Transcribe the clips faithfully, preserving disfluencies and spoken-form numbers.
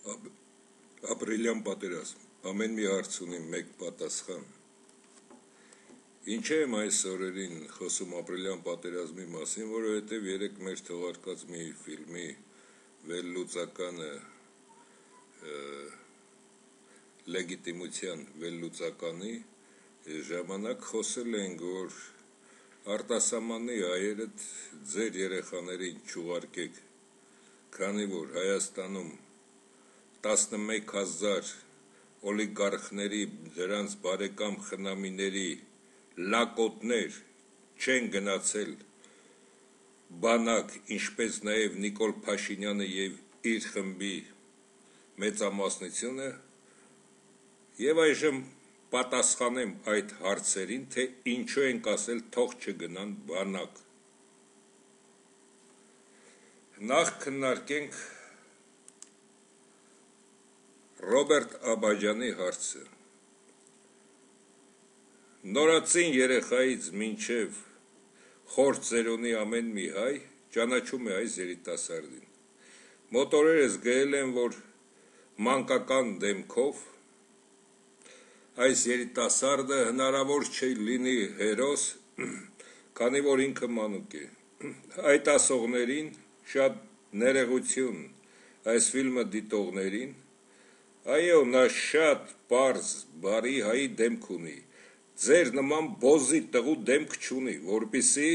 Ապրիլյան պատերազմ, ամեն մի հարց ունի մեկ պատասխան։ Ինչ եմ այս օրերին խոսում ապրիլյան պատերազմի մասին, որովհետև երեք մեր թողարկած մի ֆիլմի վերլուծականը լեգիտիմության վերլուծականի ժամանակ խոսել ենք, որ արտասահմանի հայերը ձեր երեխաներին չուղարկեք, քանի որ Հայաստանում տասնմեկ հազար օլիգարխների, դրանց բարեկամ խնամիների լակոտներ չեն գնացել բանակ, ինչպես նաև Նիկոլ Փաշինյանը և իր խմբի մեծամասնությունը, և այժմ պատասխանեմ այդ հարցերին, թե ինչու ենք ասել թող չգնան բանակ։ Նախ քննարկենք Ռոբերտ Աբաջյանի հարցը։ Նորածին երեխայից մինչև խոր ծերունի ամեն մի հայ ճանաչում է այս երիտասարդին։ Մոտ օրերս գրել են, որ մանկական դեմքով այս երիտասարդը հնարավոր չէ լինի հերոս, քանի որ ինքը մանուկ է։ Այդ ասողներին շատ ներողություն այս ֆիլմը դիտողներին, այո, նա շատ պարզ, բարի հայի դեմք ունի, ձեր նման բոզի տղու դեմք չունի, որպեսզի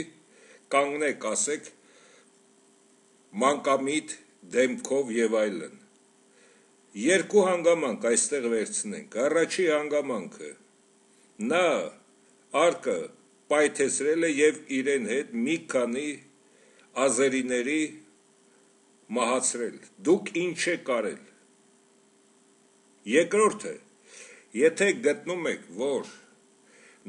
կանգնեք, ասեք մանկամիտ դեմքով և այլն։ Երկու հանգամանք այստեղ վերցնենք, առաջի հանգամանքը, նա արկը պայթեցրել է և իրեն հետ մի քանի ազերիների մահացրել, դուք ինչ եք արել։ Երկրորդը, եթե գտնում եք, որ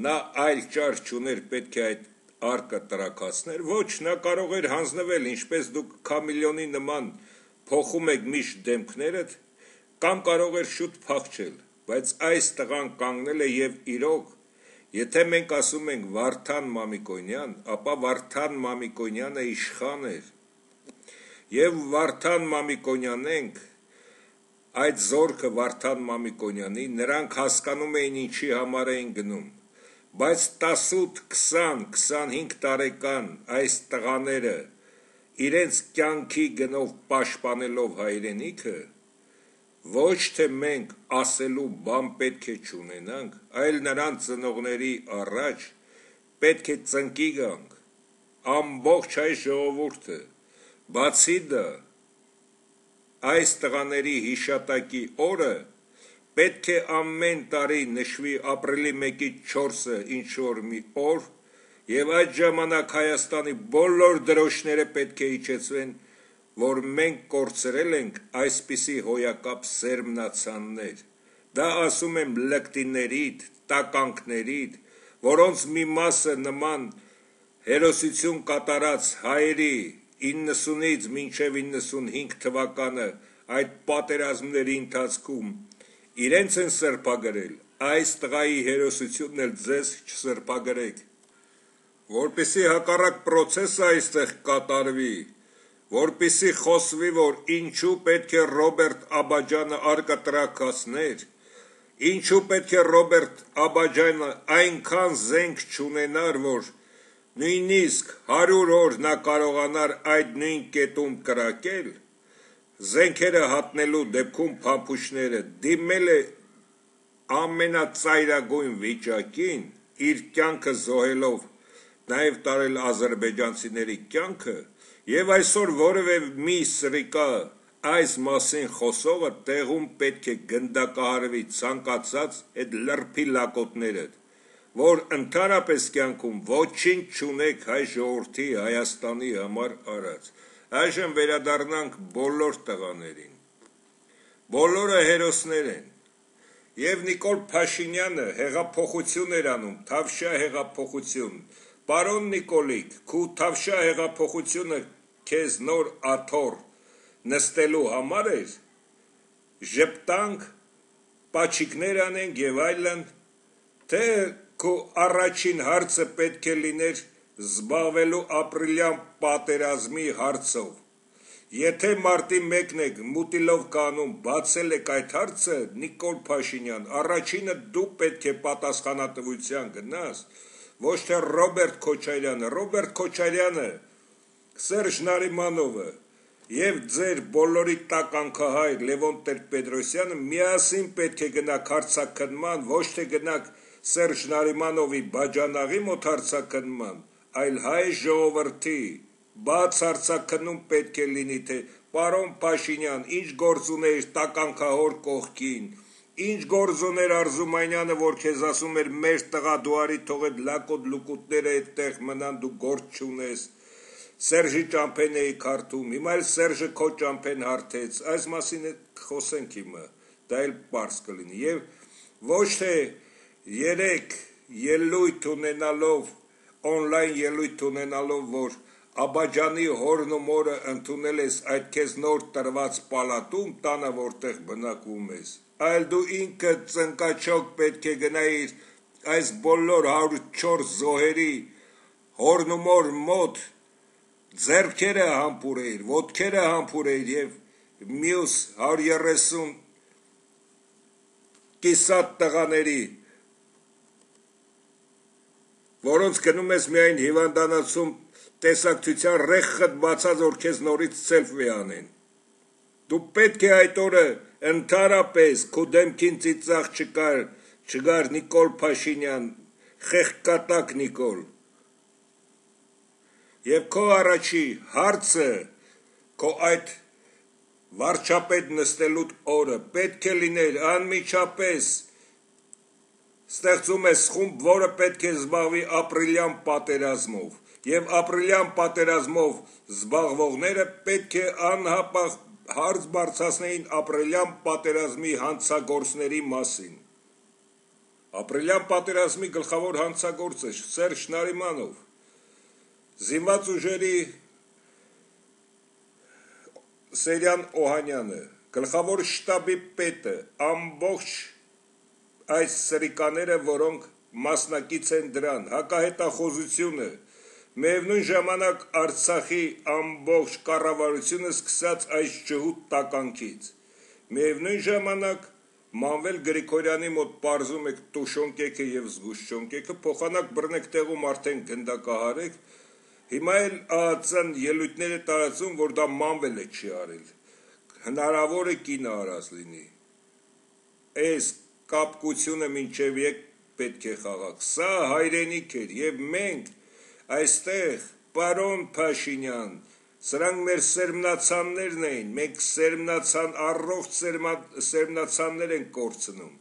նա այլ ճար չուներ, պետք է այդ արկը տրաքացներ, ոչ, նա կարող էր հանձնվել, ինչպես դուք քամիլիոնի նման փոխում եք միշտ դեմքներդ, կամ կարող էր շուտ փախչել, բայց այս տղան կանգնել է և իրոք, եթե մենք ասում ենք Վարդան Մամիկոնյան, ապա Վարդան Մամիկոնյանը իշխան էր, և Վարդան Մամիկոնյանենք, այդ զորքը Վարդան Մամիկոնյանի, նրանք հասկանում էին ինչի համար էին գնում, բայց տասութ, քսան, քսանհինգ տարեկան այս տղաները իրենց կյանքի գնով պաշտպանելով հայրենիքը, ոչ թե մենք ասելու բան պետք է չունենանք, այլ նրան ծնողների առաջ պետք է ծնկի գանք, ամբողջ հայ ժողովուրդը, բացի դա, այս տղաների հիշատակի օրը պետք է ամեն տարի նշվի ապրիլի մեկից չորսը ինչ-որ մի օր, և այդ ժամանակ Հայաստանի բոլոր դրոշները պետք է իջեցվեն, որ մենք կորցրել ենք այսպիսի հոյակապ սերմնացաններ։ Դա ասում եմ լկտիներիդ, տականքներիդ, որոնց մի մասը նման հերոսություն կատարած հայերի իննսունից մինչև իննսունհինգ թվականը այդ պատերազմների ընթացքում իրենց են սրբագրել, այս տղայի հերոսությունն էլ ձեզ չսրբագրեք, որպեսզի հակառակ պրոցեսը այստեղ կատարվի, որպեսզի խոսվի, որ ինչու պետք է Ռոբերտ Աբաջյանը արկը տրաքացներ, ինչու պետք է Ռոբերտ Աբաջյանը այնքան զենք չունենար, որ նույնիսկ հարյուր օր նա կարողանար այդ նույն կետում կրակել, զենքերը հատնելու դեպքում փամփուշտները դիմել է ամենածայրագույն վիճակին, իր կյանքը զոհելով, նաև տարել ադրբեջանցիների կյանքը, և այսօր որևէ մի սրիկա այս մասին խոսողը տեղում պետք է գնդակահարվի ցանկացած այդ լրբի լակոտները, որ ընդհանրապես կյանքում ոչինչ չունեք հայ ժողովրդի Հայաստանի համար արած։ Այժմ վերադառնանք բոլոր տղաներին, բոլորը հերոսներ են, և Նիկոլ Փաշինյանը հեղափոխություն էր անում, Թավշյա հեղափոխություն, պարոն Նիկոլիկ, քու Թավշյա հեղափոխությունը քեզ նոր աթոռ նստելու համար էր, ժպտանք, պաչիկներ անենք և այլն, թե քու առաջին հարցը պետք է լիներ զբաղվելու ապրիլյան պատերազմի հարցով, Եթե մարտի մեկն եք մուտիլով կանում բացել եք այդ հարցը, Նիկոլ Փաշինյան, առաջինը դու պետք է պատասխանատվության գնաս, ոչ թե Ռոբերտ Քոչարյանը, Ռոբերտ Քոչարյանը, Սերժ Նարիմանովը եւ ձեր բոլորի տականքահայր Լևոն Տեր-Պետրոսյանը միասին պետք է գնաք հարցաքննման, ոչ թե գնաք Սերժ Նարիմանովի բաժանաղի մոտ հարցաքննման, այլ հայ ժողովրդի բաց հարցաքննում պետք է լինի, թե պարոն Փաշինյան, ինչ գործ ուներ տականքահոր կողքին, ինչ գործ ուներ Արզումանյանը, որ քեզ ասում էր մեր տղա դու արի թող այդ լակոտ լուկուտները այդտեղ մնան, դու գործ չունես, Սերժի ճամփեն էի քարտում, հիմա էլ Սերժը քո ճամփեն հարթեց, այս մասին խոսենք հիմա, դա էլ պարզ կլինի, եւ ոչ թե երեք ելույթ ունենալով, օնլայն ելույթ ունենալով, որ Աբաջանի հորն ու մորը ընդունել ես այդ քեզ նոր տրված պալատում, տանը որտեղ բնակվում ես, այլ դու ինքը ծնկաչոք պետք է գնայիր այս բոլոր հարյուր ու չորս զոհերի հորն ու մոր մոտ ձեռքերը համբուրեիր, ոտքերը համբուրեիր եւ մյուս հարյուր ու երեսուն կիսատ տղաների, որոնց գնում ես միայն հիվանդանոցում տեսակցության ռեխխդ բացած, որ քեզ նորից սելֆի անեն, դու պետք է այդ օրը ընդհանրապես քո դեմքին ծիծաղ չկար, չգար Նիկոլ Փաշինյան, խեղկատակ Նիկոլ, եւ քո առաջի հարցը, քո այդ վարչապետ նստելու օրը պետք է լիներ անմիջապես ստեղծում ես խումբ, որը պետք է զբաղվի ապրիլյան պատերազմով, եւ ապրիլյան պատերազմով զբաղվողները պետք է անհապաղ հարց բարձրացնեին ապրիլյան պատերազմի հանցագործների մասին, ապրիլյան պատերազմի գլխավոր հանցագործը Սերժ Նարիմանով, Զինված ուժերի Սերյան Օհանյանը, գլխավոր շտաբի պետը, ամբողջ այս սրիկաները, որոնք մասնակից են դրան, հակահետախուզությունը, միևնույն ժամանակ Արցախի ամբողջ կառավարությունը սկսած այս ջհուդ տականքից, միևնույն ժամանակ Մանվել Գրիգորյանի մոտ պարզում եք տուշոնկեքը եւ զգուշչոնկեքը, փոխանակ բռնեք տեղում արդեն գնդակահարեք, հիմա էլ ԱԱՑ-ն ելույթները տարածում, որ դա Մանվելը չի արել, հնարավոր է կինը արած լինի, այս կապկությունը մինչև եկ պետք է խաղաք, սա հայրենիք էր եւ մենք այստեղ պարոն Փաշինյան, սրանք մեր սերմնացաններն էին, մենք սերմնացան, առողջ սերմնացաններ են կորցնում,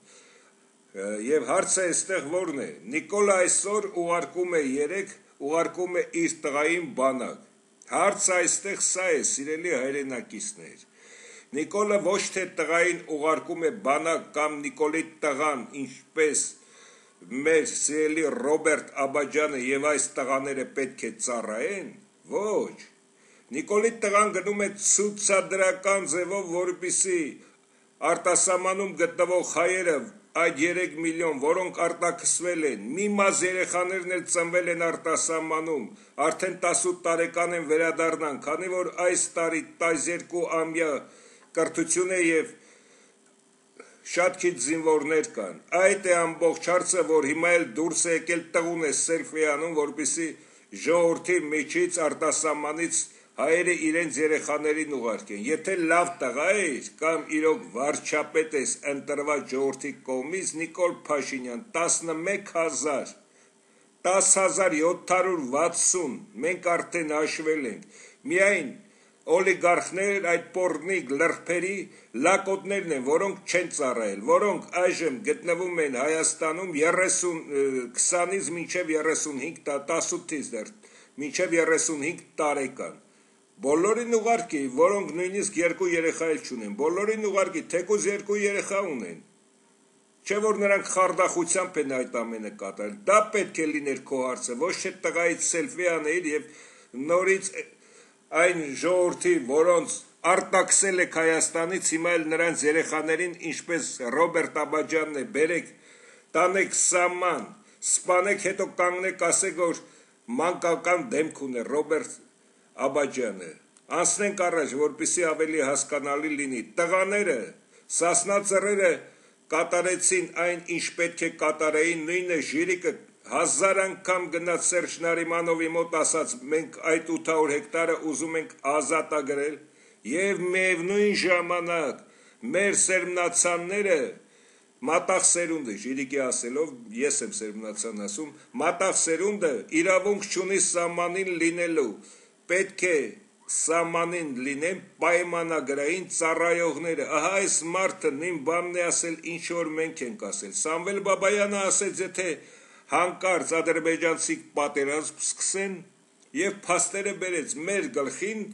եւ հարցը այստեղ որն է, Նիկոլը այսօր ուղարկում է երեք, ուղարկում է իր տղային բանակ, հարցը այստեղ սա է, սիրելի հայրենակիցներ, Նիկոլը ոչ թե տղային ուղարկում է բանակ կամ Նիկոլի տղան, ինչպես մեր սիրելի Ռոբերտ Աբաջյանը եւ այս տղաները պետք է ծառայեն, ոչ, Նիկոլի տղան գնում է ցուցադրական ձևով, որպեսզի արտասահմանում գտնվող հայերը այդ երեք միլիոն, որոնք արտաքսվել են, մի մաս երեխաներն էլ ծնվել են արտասահմանում, արդեն տասութ տարեկան են վերադառնան, քանի որ այս տարի տասներկու ամյա կրթություն է եւ շատ քիչ զինվորներ կան, այդ է ամբողջ հարցը, որ հիմա էլ դուրս է եկել տղուն է սելֆի անում, որպեսզի ժողովրդի միջից արտասահմանից հայերը իրենց երեխաներին ուղարկեն, եթե լավ տղա ես կամ իրոք վարչապետ ես ընտրված ժողովրդի կողմից, Նիկոլ Փաշինյան, տասնմեկ հազար, տասը հազար յոթ հարյուր վաթսուն, մենք արդեն հաշվել ենք, միայն օլիգարխներ, այդ պոռնիկ լրբերի լակոտներն են, որոնք չեն ծառայել, որոնք այժմ գտնվում են Հայաստանում քսանից մինչև երեսունհինգ, տասութից դեռ մինչև երեսունհինգ տարեկան, բոլորին ուղարկի, որոնք նույնիսկ երկու երեխա էլ չունեն, բոլորին ուղարկի, թեկուզ երկու երեխա ունեն, չէ որ նրանք խարդախությամբ են այդ ամենը կատարել, դա պետք է լիներ քո հարցը, ոչ թե տղայից սելֆի անել եւ նորից այն ժողովրդի, որոնց արտաքսել եք Հայաստանից, հիմա էլ նրանց երեխաներին, ինչպես Ռոբերտ Աբաջյանն է, բերեք, տանեք սահման, սպանեք, հետո կանգնեք, ասեք, որ մանկական դեմք ունի Ռոբերտ Աբաջյանը, Անցնենք առաջ, որպեսզի ավելի հասկանալի լինի։ Տղաները, Սասնա ծռերը կատարեցին այն, ինչ պետք է կատարեին, նույնը Ժիրիկը հազար անգամ գնաց Սերժ Նարիմանովի մոտ, ասաց մենք այդ ութ հարյուր հեկտարը ուզում ենք ազատագրել, եւ միևնույն ժամանակ մեր սերմնացանները մատաղ սերունդը, Ժիրիկի ասելով, ես եմ սերմնացան ասում, մատաղ սերունդը իրավունք չունի սահմանին լինելու, պետք է սահմանին լինեն պայմանագրային ծառայողները, ահա այս մարդը նույն բանն է ասել, ինչ որ մենք ենք ասել, Սամվել Բաբայանը ասեց, եթե հանկարծ ադրբեջանցի պատերազմ սկսեն եւ փաստերը բերեց մեր գլխին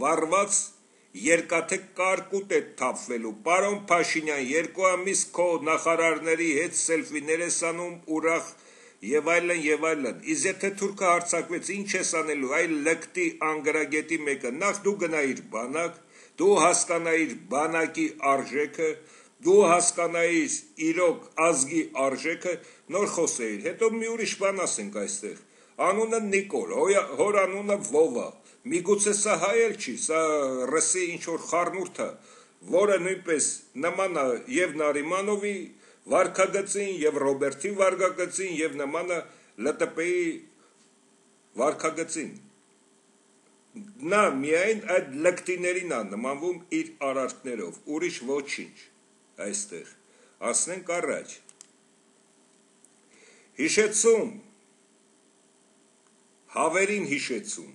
վառված երկաթե կարկուտ է թափվելու, պարոն Փաշինյան, երկու ամիս քո նախարարների հետ սելֆիներ ես անում, ուրախ եւ այլն եւ այլն, իսկ եթե թուրքը հարձակվեց, ինչ ես անելու, այ լկտի անգրագետի մեկը, նախ դու գնայիր բանակ, դու հասկանայիր բանակի արժեքը, դու հասկանայիր իրոք ազգի արժեքը, նոր խոսեիր, հետո մի ուրիշ բան ասենք այստեղ, անունը Նիկոլ, հոր անունը Վովա, միգուցե սա հայ էլ չի, սա ռսի ինչ որ խառնուրդ է, որը նույնպես նման է եւ Նարիմանովի վարքագծին եւ Ռոբերտի վարքագծին եւ նմանը ԼՏՊ-ի վարքագծին, նա միայն այդ լկտիներին է նմանվում իր արարքներով, ուրիշ ոչինչ այստեղ, ասնենք առաջ, հիշեցում, հավերին հիշեցում,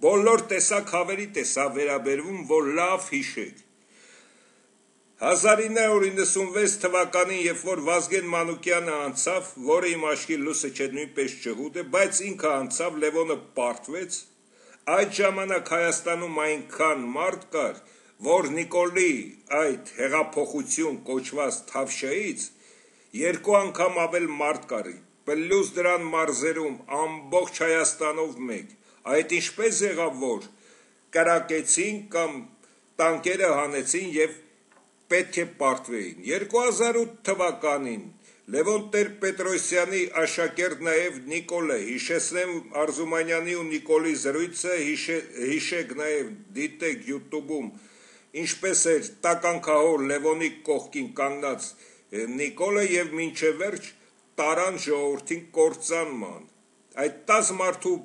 բոլոր տեսակ հավերի տեսա վերաբերվում, որ լավ հիշեք, հազար ինը հարյուր իննսունվեց թվականին, երբ որ Վազգեն Մանուկյանը անցավ, որը իմ աչքի լույսը չէ նույնպես ջհուդ է, բայց ինքը անցավ, Լևոնը պարտվեց, այդ ժամանակ Հայաստանում այնքան մարդ կար, որ Նիկոլի այդ հեղափոխություն կոչված Թավշյայից երկու անգամ ավել մարդ կար, պլյուս դրան մարզերում ամբողջ Հայաստանով մեկ, այդ ինչպես եղավ, որ կրակեցին կամ տանկերը հանեցին եւ պետք է պարտվեին։ երկու հազար ութ թվականին Լևոն Տեր-Պետրոսյանի աշակերտ նաև Նիկոլը, հիշեցնեմ Արզումանյանի ու Նիկոլի զրույցը, հիշեք նաև դիտեք YouTube-ում, ինչպես էր տականքահոր Լևոնի կողքին կանգնած Նիկոլը եւ մինչև վերջ տարան ժողովրդին կործանման։ Այդ տասը մարդու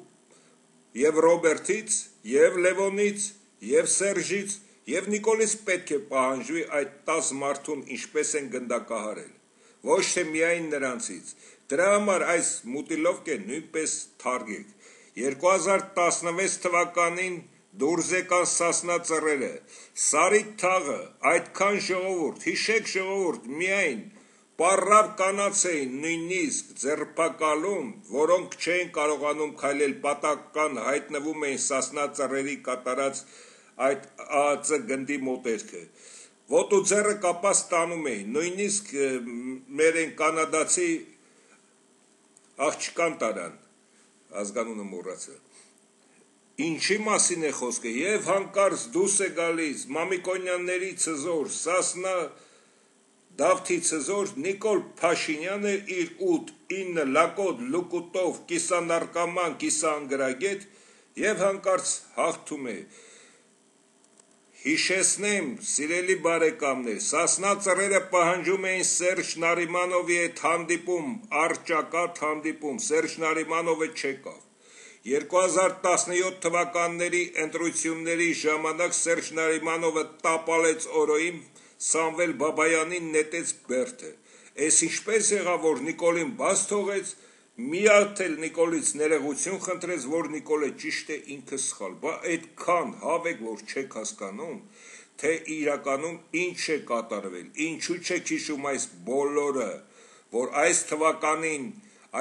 եւ Ռոբերտից, եւ Լևոնից, եւ Սերժից, եւ Նիկոլից պետք է պահանջվի այդ տասը մարդուն ինչպես են գնդակահարել, ոչ թե միայն նրանցից, դրա համար այս մուտիլովկը նույնպես թարգեք, երկու հազար տասնվեց թվականին դուրս եկան Սասնա ծռերը, Սարի թաղը, այդքան ժողովուրդ, հիշեք ժողովուրդ, միայն պառավ կանաց էին նույնիսկ ձերբակալում, որոնք չէին կարողանում քայլել, պատական հայտնվում էին Սասնա ծռերի կատարած այդ ԱԱԾ գնդի մոտերքը, ոտու ձեռը կապած տանում էին, նույնիսկ մեր են կանադացի աղջկան տարան, ազգանունը մոռացա, ինչի մասին է խոսքը, եւ հանկարծ դուրս է գալիս Մամիկոնյանների ցզոր, Սասնա Դավթի ցզոր Նիկոլ Փաշինյանը իր ութ ինը լակոտ լուկուտով կիսանարկաման, կիսաանգրագետ եւ հանկարծ հաղթում է։ Հիշեցնեմ, սիրելի բարեկամներ, Սասնա ծռերը պահանջում էին Սերժ Նարիմանովի հետ հանդիպում, առճակատ հանդիպում, Սերժ Նարիմանովը չեկավ։ երկու հազար տասնյոթ թվականների ընտրությունների ժամանակ Սերժ Նարիմանովը տապալեց օրոյին Սամվել Բաբայանին նետեց բերդը, այս ինչպես եղավ, որ Նիկոլին բաց թողեց, միատ էլ Նիկոլից ներողություն խնդրեց, որ Նիկոլը ճիշտ է, ինքը սխալ, բա այդքան հավեք, որ չեք հասկանում, թե իրականում ինչ է կատարվել, ինչու չեք հիշում այս բոլորը, որ այս թվականին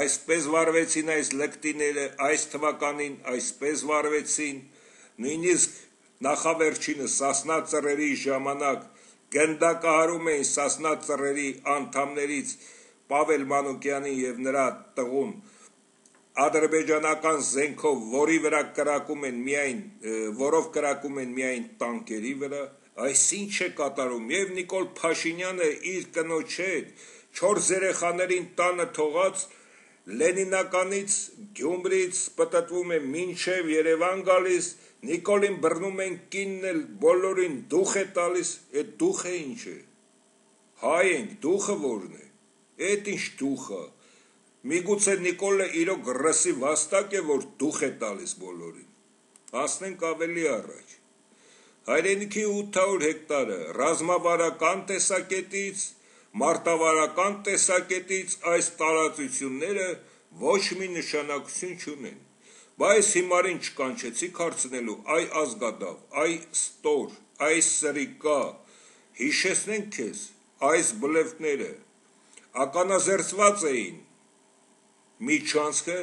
այսպես վարվեցին այս լկտիները, այս թվականին այսպես վարվեցին, նույնիսկ նախավերջինը Սասնա ծռերի ժամանակ գնդակահարում էին Սասնա ծռերի անդամներից Պավել Մանուկյանին եւ նրա տղուն ադրբեջանական զենքով, որի վրա կրակում են միայն, որով կրակում են միայն տանկերի վրա, այս ինչ է կատարում, եւ Նիկոլ Փաշինյանը իր կնոջ հետ չորս երեխաներին տանը թողած Լենինականից Գյումրից պտտվում է մինչև Երևան գալիս, Նիկոլին բռնում են կինն էլ բոլորին դուխ է տալիս, այդ դուխը ինչ է, հայ ենք, դուխը որն է, այդ ինչ դուխը, միգուցե Նիկոլը իրոք ռսի վաստակ է, որ դուխ է տալիս բոլորին, ասնենք ավելի առաջ, հայրենիքի ութ հարյուր հեկտարը ռազմավարական տեսակետից, մարտավարական տեսակետից այս տարածությունները ոչ մի նշանակություն չունեն, բայց հիմարին չկանչեցիք հարցնելու այ ազգադավ, այ ստոր, այ սրիկա, հիշեցնենք քեզ, այս բլեֆները ականազերծված էին միջանցքը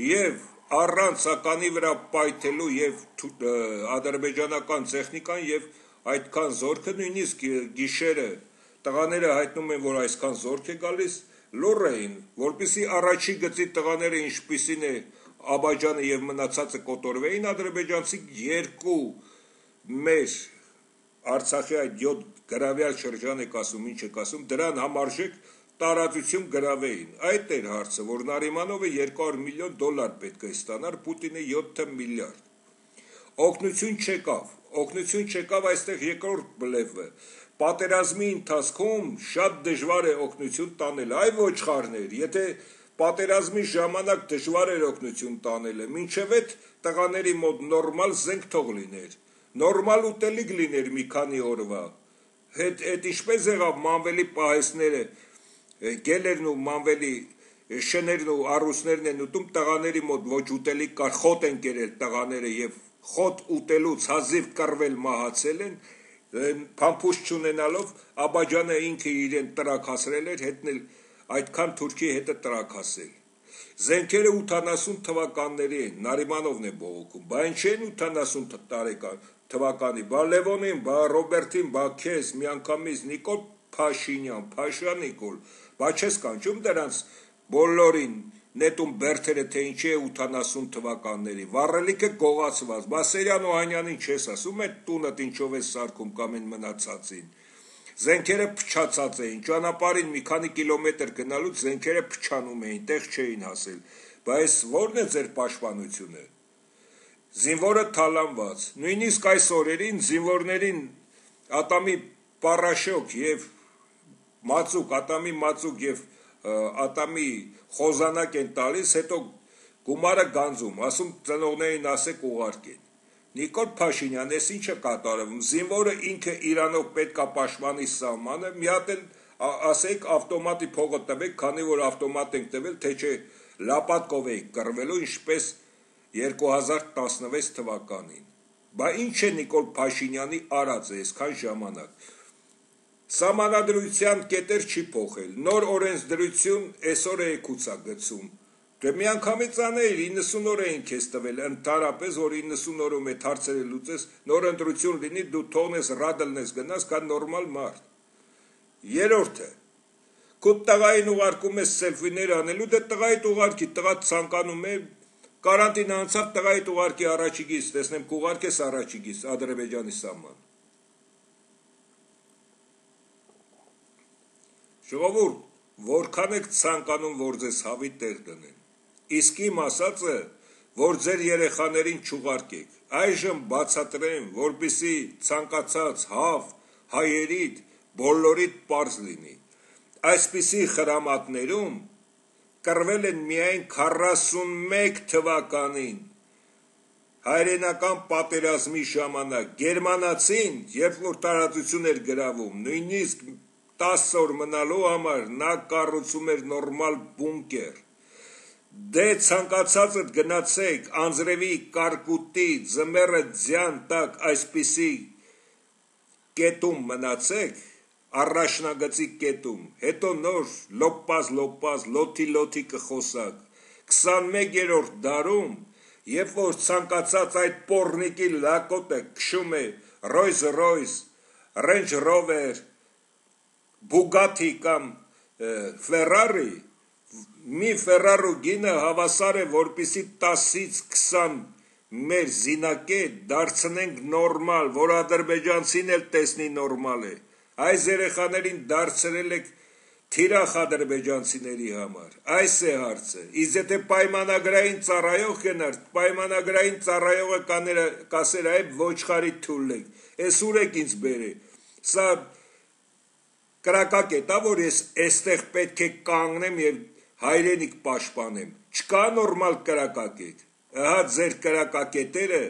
և առանց ականի վրա պայթելու և ադրբեջանական տեխնիկան և այդքան զորքը նույնիսկ գիշերը տղաները հայտնում են, որ այսքան զորք է գալիս, լուռ էին, որպեսզի առաջի գծի տղաները ինչպիսին է Աբաջանը և մնացածը կոտորվեին, ադրբեջանցի երկու մեր Արցախի այդ յոթ գրավյալ շրջան եք ասում, ինչ եք ասում, դրան համարժեք տարածություն գրավեին, այդ էր հարցը, որ Նարիմանովը երկու հարյուր միլիոն դոլար պետք է ստանար, Պուտինը յոթ միլիարդ, օգնություն չեկավ, օգնություն չեկավ այստեղ երկրորդ բլեֆը, պատերազմի ընթացքում շատ դժվար է օգնություն տանել, այ ոչխարներ, եթե պատերազմի ժամանակ դժվար էր օգնություն տանելը, մինչև այդ տղաների մոտ նորմալ զենք թող լիներ, նորմալ ուտելիք լիներ մի քանի օրվա, հետ ինչպես եղավ մանվելի պահեսները, գելերն ու մանվելի շներն ու առուսներն են ուտում, տղաների մոտ ոչ ուտելիք կար, խոտ են կերել տղաները և խոտ ուտելուց հազիվ կռվել մահացել են, փամփուշտ չունենալով Աբաջանը ինքը իրեն տրակ հասրել էր, հետնել այդքան թուրքի հետը տրակ հասել, զենքերը ութանասուն թվականների են, Նարիմանովն է բողոքում, բա ինչ են ութանասուն թվականի, բա Լևոնին, բա Ռոբերտին, բա քեզ, միանգամից Նիկոլ Փաշինյան, Փաշա Նիկոլ, բա չես կանչում դրանց բոլորին նետում բերթերը, թե ինչի է ութանասուն թվականների, վառելիքը գողացված, բա Սերյան Օհանյանին չես ասում, այդ տունդ ինչով է սարքում կամ են մնացածին, զենքերը փչացած էին, ճանապարհին մի քանի կիլոմետր գնալուց զենքերը փչանում էին, տեղ չէին հասել, բայց ո՞րն է ձեր պաշտպանությունը, զինվորը թալանված, նույնիսկ այս օրերին զինվորներին ատամի պարաշոկ և մածուկ, ատամի մածուկ և ատամի խոզանակ են տալիս, հետո գումարը գանձում, ասում ծնողներին ասեք ուղարկեն, Նիկոլ Փաշինյան, ես ինչ է կատարվում, զինվորը ինքը իրանով պետք է պաշտպանի սահմանը, մի հատ էլ ասեք ավտոմատի փողը տվեք, քանի որ ավտոմատ ենք տվել, թե չէ լապատկով էիք կռվելու, ինչպես երկու հազար տասնվեց թվականին, բա ինչ է Նիկոլ Փաշինյանի արածը այսքան ժամանակ, սահմանադրության կետեր չի փոխել, նոր օրենսդրություն այսօր է եկուցա գցում, դե միանգամից անել, իննսուն օր էին քեզ տվել, ընդհանրապես, որ իննսուն օրում այդ հարցերը լուծես, նոր ընտրություն լինի, դու թողնես ռադլնես գնաս, կա նորմալ մարդ, երորդը, քո տղային ուղարկում ես սելֆիներ անելու, դե տղայիդ ուղարկի, տղա ցանկանում է, կարանտին անցավ, տղայիդ ուղարկի առաջիկից, տեսնեմ կուղարկես առաջիկից, Ադրբեջանի սահման, ժողովուրդ, որքան եք ցանկանում, որ ձեզ հավի տեղ դնեն, իսկ իմ ասածը, որ ձեր երեխաներին չուղարկեք, այժմ բացատրեմ, որպեսզի ցանկացած հավ հայերիդ բոլորիդ պարզ լինի, այսպիսի խրամատներում կռվել են միայն քառասունմեկ թվականին, հայրենական պատերազմի ժամանակ, գերմանացին, երբ որ տարածություն էր գրավում, նույնիսկ տասը օր մնալու համար նա կառուցում էր նորմալ բունկեր, դե ցանկացածդ գնացեք անձրևի կարկուտի ձմեռը ձյան տակ այսպիսի կետում մնացեք, առաջնագծի կետում, հետո նոր լոպազ լոպազ լոթի լոթի կխոսակ, քսանմեկերորդ դարում, երբ որ ցանկացած այդ պոռնիկի լակոտը քշում է Rolls Royce, Range Rover, Bugatti կամ Ferrari, մի Ferrari գինը հավասար է, որպեսի տասից քսան մեր զինակետ դարձնենք նորմալ, որ ադրբեջանցին էլ տեսնի նորմալ է, այս երեխաներին դարձրել եք թիրախ ադրբեջանցիների համար, այս է հարցը, իսկ եթե պայմանագրային ծառայող գնար, պայմանագրային ծառայողը կասեր այ ոչխարի թուլեք, ես ուր եք ինձ բերե, սա կրակակ է տա, որ ես այստեղ պետք է կանգնեմ և հայրենիք պաշտպանեմ, չկա նորմալ կրակակետ, ահա ձեր կրակակետերը,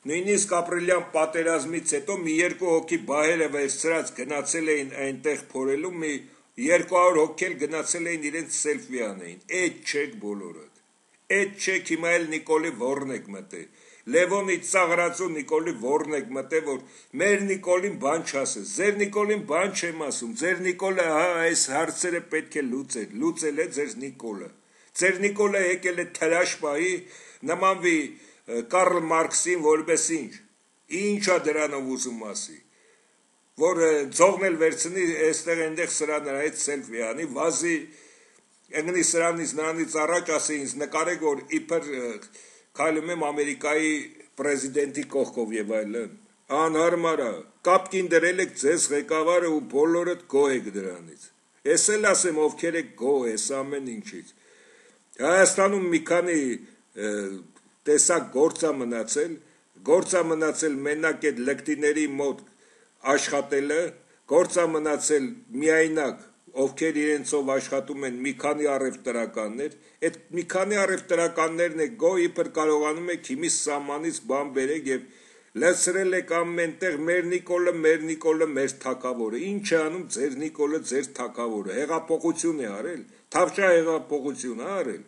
նույնիսկ ապրիլյան պատերազմից հետո մի երկու հոգի բահերը վերցրած գնացել էին այնտեղ փորելու, մի երկու հարյուր հոգի էլ գնացել էին իրենց սելֆի անեին, էդ չեք բոլորդ, էդ չեք, հիմա էլ Նիկոլի ворն եք մտել, Լևոնի ծաղրածու Նիկոլի ворն եք մտել, որ մեր Նիկոլին բան չասես, ձեր Նիկոլին բան չեմ ասում, ձեր Նիկոլը հա այս հարցերը պետք է լուծել, լուծել է ձեր Նիկոլը, ձեր Նիկոլը եկել է թրաշ պահի, նմանվի Կարլ Մարքսին, որպես ինչ, ինչա դրանով ուզում ասի, որ ձողն էլ վերցնի, այստեղ այնտեղ սրա նրանից սելֆի անի, վազի, ընգնի սրանից նրանից առաջ ասի ինձ նկարեք, որ իբր քայլում եմ Ամերիկայի պրեզիդենտի կողքով եւ այլն, անհարմար է, կապկին դրել եք ձեզ ղեկավարը ու բոլորդ գոհ եք դրանից, ես էլ ասեմ ովքեր եք գոհ ես ամեն ինչից, Հայաստանում մի քանի տեսակ գործա մնացել, գործա մնացել մենակ այդ լկտիների մոտ աշխատելը, գործա մնացել միայնակ, ովքեր իրենցով աշխատում են մի քանի առևտրականներ, այդ մի քանի առևտրականներն է գոհ իբր կարողանում եք հիմի սահմանից բան բերեք եւ լցրել եք ամենտեղ մեր Նիկոլը, մեր Նիկոլը, մեր թագավորը, ինչ է անում ձեր Նիկոլը, ձեր թագավորը, հեղափոխություն է արել, թավշյա հեղափոխություն է արել,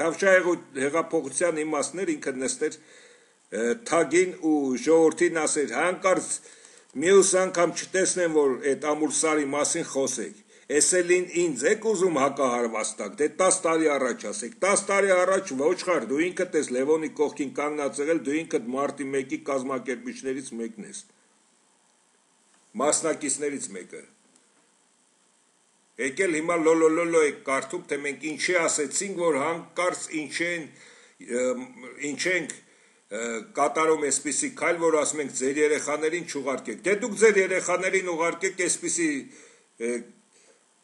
թավշյա հեղափոխության իմաստներ ինքը նստեր թագին ու ժողովրդին ասեր հանկարծ մյուս անգամ չտեսնեմ որ այդ ամուրսարի մասին խոսեք, ես էլ ինձ եք ուզում հակահարվաստակ, դե տաս տարի առաջ ասեք, տաս տարի առաջ ոչխար, դու ինքդ ես Լևոնի կողքին կանգնած եղել, դու ինքդ մարտի մեկի կազմակերպիչներից մեկն ես, մասնակիցներից մեկը, եկել հիմա լոլոլոլո եք կարդում, թե մենք ինչի ասեցինք, որ հանկարծ ինչ ենք կատարում այսպիսի քայլ, որ ասում ենք ձեր երեխաներին չուղարկեք, դե դուք ձեր երեխաներին ուղարկեք այսպիսի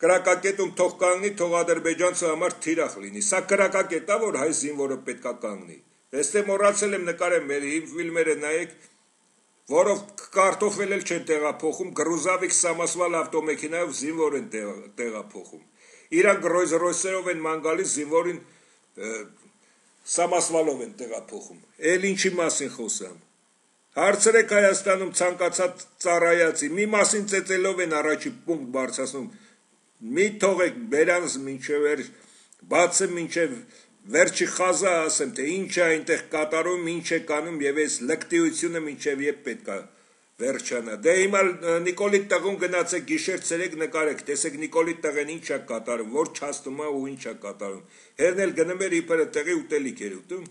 կրակակետում թող կանգնի, թող ադրբեջանցու համար թիրախ լինի, սա կրակակետ է, որ հայ զինվորը պետք է կանգնի, այստեղ մոռացել եմ նկարեմ մեր ֆիլմերը նայեք, որով կարտոֆել էլ չեն տեղափոխում, գրուզավիկ սամասվալ ավտոմեքենայով զինվոր են տեղափոխում, իրանք Ռոյս-Ռոյսերով են ման գալիս զինվորին սամասվալով են տեղափոխում, էլ ինչի մասին խոսամ, հարցրեք Հայաստանում ցանկացած ծառայացի, մի մասին ծեծելով են առաջի պունկտ բարձրացնում, մի թողեք բերանս մինչև բացը մինչև վերջի խազա ասեմ, թե ինչ է այնտեղ կատարում, ինչ է կանում և այս լկտիությունը մինչև եբ պետք է վերջանա, դե հիմա Նիկոլի տղուն գնացեք գիշեր ցերեկ նկարեք, տեսեք Նիկոլի տղեն ինչ է կատարում, որ չաստում է ու ինչ է կատարում, հերն էլ գնում էր իբրը տեղի ուտելիք էր ուտում,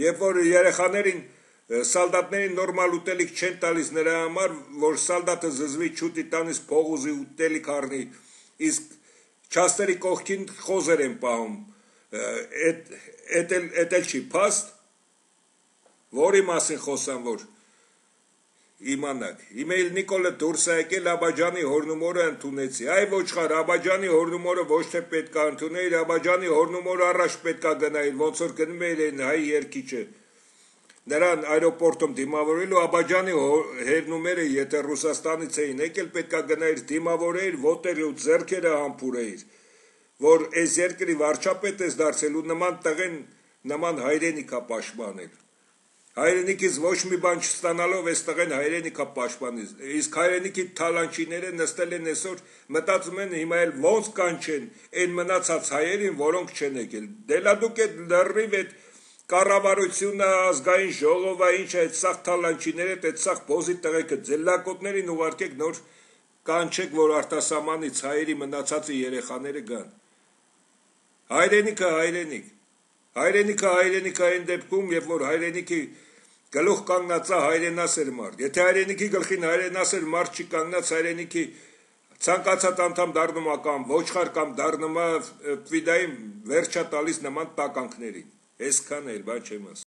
երբ որ երեխաներին սալդատներին նորմալ ուտելիք չեն տալիս նրա համար, որ սալդատը զզվի չուտի տանից փող ուզի ուտելիք առնի, իսկ չաստերի կողքին խոզեր են պահում, էդ էլ չի փաստ, որի մասին խոսամ, որ իմանաք, հիմա էլ Նիկոլը դուրս է եկել Աբաջանի հորնումորը ընդունեցի, այ ոչխար, Աբաջանի հորնումորը ոչ թե պետք է ընդունել, Աբաջանի հորնումորը առաջ պետք է գնայր, ոնց որ գնում էր այն հայ երկիչը, նրան այրոպորտում դիմավորելու Աբաջանի հերնումերը, եթե Ռուսաստանից էին եկել, պետք է գնայր դիմավորեիր, ոտերը ու ձեռքերը համբուրեիր, որ այս երկրի վարչապետ ես դարձել ու նման տղեն նման հայրենիք է պաշտպանել, հայրենիքից ոչ մի բան չստանալով այս տղեն հայրենիք է պաշտպանել, իսկ հայրենիքի թալանչիները նստել են այսօր մտածում են հիմա էլ ոնց կանչեն այն մնացած հայերին, որոնք չեն եկել, դե դուք այդ լրիվ այդ կառավարությունը, ազգային ժողովը, ինչ է այդ սաղ թալանչիները, այդ սաղ բոզի տղեկը ձելակոտներին ուղարկեք նոր կանչեք, որ արտասահմանից հայերի մնացածի երեխաները գան, հայրենիքը հայրենիք, հայրենիքը հայրենիքը այն դեպքում, երբ որ հայրենիքի գլուխ կանգնածա հայրենասեր մարդ, եթե հայրենիքի գլխին հայրենասեր մարդ չի կանգնած հայրենիքի ցանկացած անդամ դառնում է կամ ոչխար կամ դառնում է ֆիդային վերջա տալիս նման տականքներին, այսքան էլ բան չեմ ասում